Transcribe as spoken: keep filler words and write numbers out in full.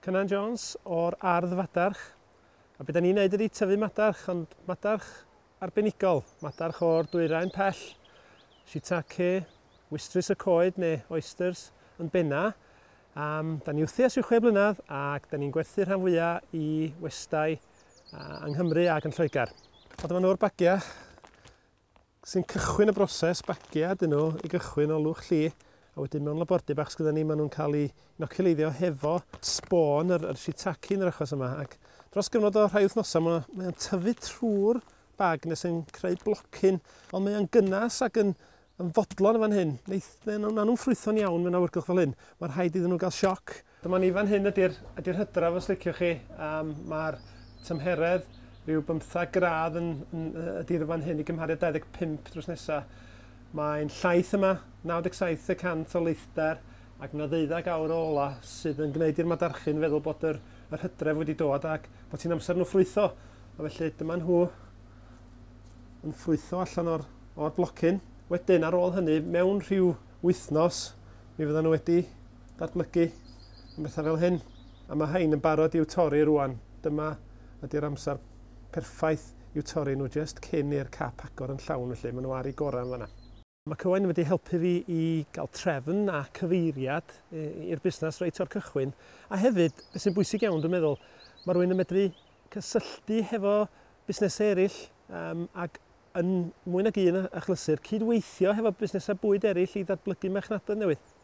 Cynan Jones o'r Ardd Fadarch. A be da ni'n neud ydy tyfu madarch, ond madarch arbenigol, madarch o'r dwyrain pell, shiitake, wystrys y coed neu oysters yn benna. Um, da ni wrthi ers rhyw chwe blynedd ac da ni'n gwerthu rhan fwyaf i westai uh, yng Nghymru ac yn Lloegr. A dyma nhw'r bagiau sy'n cychwyn y broses, bagiau dyn nhw i gychwyn o lwch lli, a wedyn mewn labordy bach sgynna ni, maen nhw'n cael eu inoculeiddio hefo sbôn yr, yr shiitake yn yr achos yma. Ac dros gyfnod o rhai wythnosau, mae mae'n tyfu trwy'r bag nes yn creu blocyn, ond mae'n gynnas ac yn, yn fodlon yn fan hyn. Neith, na nhw'n ffrwytho'n iawn mewn awyrgylch fel hyn. Mae'n rhaid iddyn nhw gael sioc. Dyma ni fan hyn ydy'r ydy hydref, os liciwch chi. Um, Mae'r tymheredd rhyw bymthag gradd yn, yn, ydy'r fan hyn i gymharu dau ddeg pump drws nesaf. Mae'n llaith yma, naw deg saith y cant o leithder, ac mae yna ddeuddag awr o ola sydd yn gwneud i'r madarchyn feddwl bod yr, yr hydref wedi dod ac bod hi'n amser nhw ffrwytho. A felly dyma nhw yn ffrwytho allan o'r, o'r blocyn. Wedyn, ar ôl hynny, mewn rhyw wythnos, mi fyddan nhw wedi datblygu yn bethau fel hyn. A mae rhain yn barod i'w torri rwan. Dyma ydy'r amser perffaith i'w torri nhw jyst cyn i'r cap agor yn llawn, felly maen nhw ar eu gorau yn fanna. Mae Cywain wedi helpu fi i gael trefn a cyfeiriad i'r busnes reit o'r cychwyn. A hefyd, beth sy'n bwysig iawn, dwi'n meddwl, mae rhywun yn medru cysylltu hefo busnesau eraill um, ac yn mwy nag un achlysur cydweithio hefo busnesau bwyd eraill i ddatblygu marchnadoedd newydd.